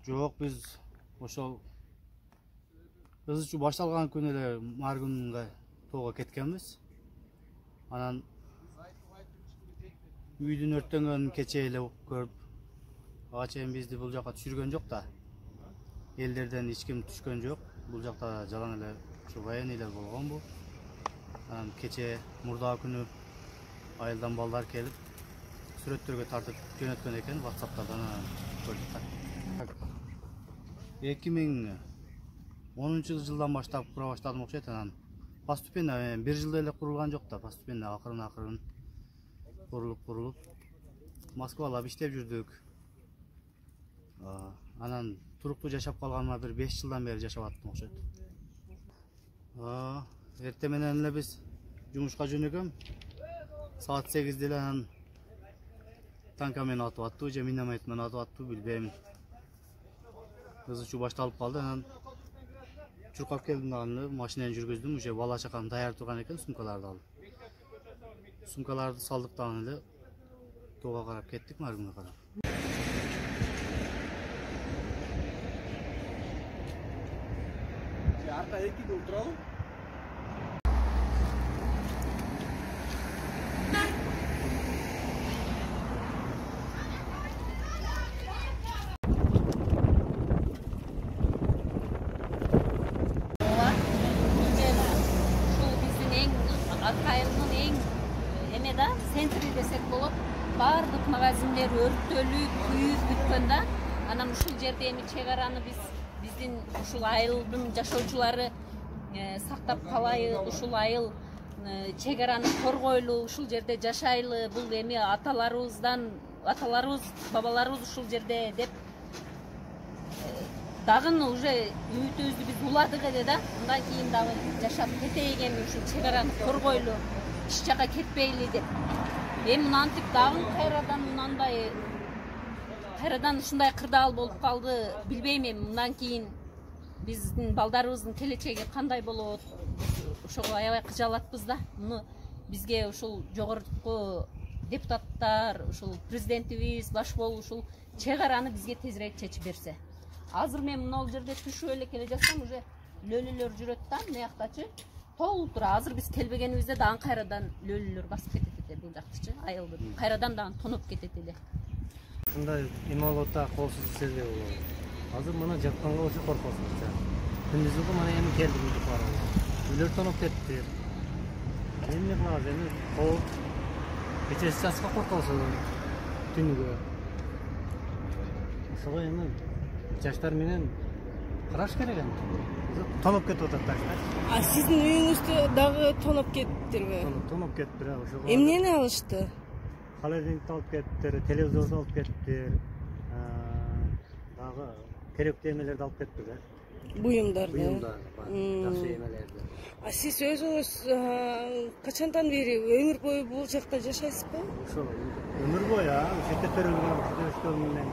Жок, биз ошол ыз ичүү башталган күнү эле Маргунга тоого кеткенбиз. Анан үйдүн өрттөнгөнүн кечээ эле көрүп, ага чейин бизди бул жака түшүргөн жок да. Элдерден эч ким түшкөн жок. Бул жакта жалаң эле ушу военныйлар болгон бул. Анан кечээ мурдагы күнү айылдан балдар келип, сүрөттөргө тартып жөнөткөн экен WhatsApp'тардан көрдүк да. 2010 жылдан баштап кура баштадым окшойт. Анан постепенно бир жылда эле курулган жок да, постепенно акырын курулуп Москвалап иштеп жүрдүк. Анан туруктуу жашап калганыма бир 5 жылдан бери жашап аттым окшойт. Эртең менен эле биз жумушка жөнөгөм. Саат 8'de эле анан танка менен атып аттуу же миномет менен атып аттуу билбейм. Ыз ичүү башталып калды. Анан чуркап келдим дагы, машинаны жүргүздүм. Уже бала чакам даяр турган экен, сумкаларды алып. Сумкаларды салдык дагы эле тоого карап кеттик, Маргунга карап. Арка 2'de отуралым. Акайылдын эң эме да центри десек болот. Баардык магазиндер өрттөлүп, күйүп бүткөн да. Анан ушул жерде эми чек араны биздин ушул айылдын жашоочулары сактап калайы, ушул айыл чек араны коргойлу, ушул жерде жашайлы, бул эми аталарыбыз, бабаларыбыз ушул жерде деп дагы уже үмүтүбүздү биз уладык эле да. Андан кийин дагы жашап кетейик, эми ушул чек араны коргойлу, эч жака кетпейли деп. Эми мынантип дагы кайрадан ушундай кырдаал болуп калды. Билбейм эми мындан кийин биздин балдарыбыздын келечеги кандай болот. Ошого аябай кыжалатпыз да. Муну бизге ушул жогорку депутаттар, ушул президентибиз, баш болуп ушул чек араны бизге тезирээк чечип берсе. Азыр мен мына жерде түшүп эле келе жатсам, уже лөлөлөр жүрөт да, мыяктачы толуп тура. Азыр биз келбегенибизде дагы кайрадан лөлөлөр басып кетет эле бул жактычы, айылды. Кайрадан дагы тоноп кетет эле. Ушундай эме болот да, колсуз иселер болот. Азыр мына жатканга болсо коркосуз. Күндүзгү мына эми келдик үйдү барабыз. Үйлөр тоноп кетти. Эмне кылабыз эми? Кооп кечеси чачка коркосуз түнүгө. Ошого эми жаштар менен караш керек эми. Тоноп кетип атат да. Сиздин үйүңүздө дагы тоноп кеттирби? Тоноп кетти, ошого. Эмнени алышты? Холодильникти алып кеттир, телевизорду алып кеттир. Дагы керектүү эмелерди алып кетти да. Буюмдарды. Жакшы эмелерди. Сиз өзүңүз качандан бери өмүр бою бул жакта жашайсызбы? Ошо өмүр бою, ушерде төрөлгөн, ушерде өскөн менен